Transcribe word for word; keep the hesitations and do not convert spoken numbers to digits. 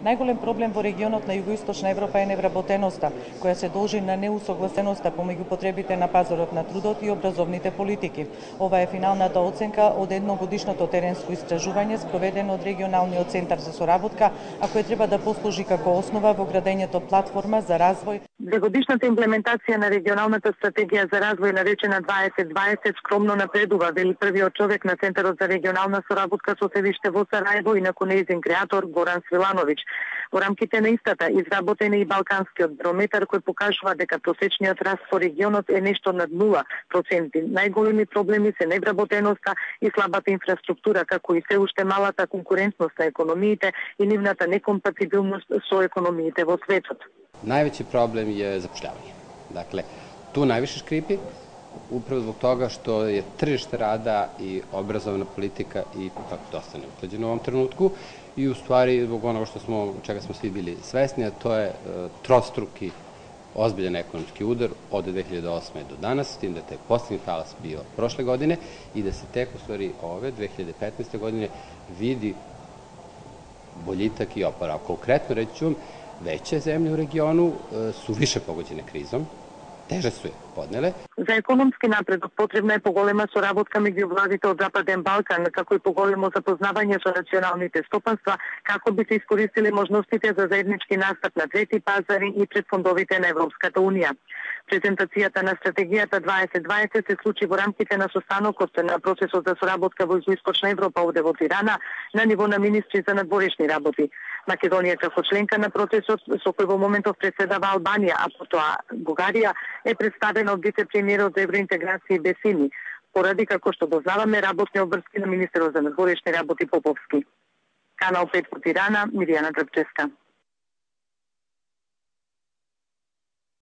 Најголем проблем во регионот на Југоисточна Европа е невработеноста, која се должи на неусогласеноста помеѓу потребите на пазарот на трудот и образовните политики. Ова е финалната оценка од едногодишното теренско истражување спроведено од регионалниот центар за соработка, а кој треба да послужи како основа во градењето платформа за развој. Двегодишната имплементација на регионалната стратегија за развој наречена дваесет дваесет скромно напредува, вели првиот човек на Центарот за регионална соработка со седиште во Сараево и наку нејзин креатор Горан Свилановиќ. Во рамките на истата изработен е и Балканскиот барометар кој покажува дека просечниот раст по регионот е нешто над нула проценти. Најголеми проблеми се невработеноста и слабата инфраструктура, како и се уште малата конкурентност на економиите и нивната некомпатибилност со економиите во светот. Највеći problem je zapošljavanje. Dakle, tu najviše škripi, upravo zbog toga što je tržište rada i obrazovna politika i tako dosta neusklađeno u ovom trenutku i u stvari zbog onoga što smo, čega smo svi bili svesni, a to je uh, trostruki ozbiljan ekonomski udar od dve hiljade osme do danas, s tim da je taj poslednji talas bio prošle godine i da se tek u stvari ove dve hiljade petnaeste godine vidi boljitak i oporavak. Konkretno reći ću vam, veće zemlje u regionu su više pogođene krizom, teže su je podnele. За економски напредок потребна е поголема соработка меѓу владите од Западен Балкан, како и поголемо запознавање со националните стопанства, како би се искористили можностите за заеднички настап на трети пазари и пред фондовите на Европската Унија. Презентацијата на стратегијата дваесет дваесет се случи во рамките на состанокот на процесот за соработка во Југоисточна Европа овде во Тирана на ниво на министри за надворешни работи. Македонија како членка на процесот со кој во моментов преседава Албанија, а потоа Бугарија, е представена од вице-премиерот за евроинтеграција Бесини, поради како што дознаваме работни обврски на министерот за надворешни работи Поповски. Канал пет во Тирана, Миријана Дрбчевска.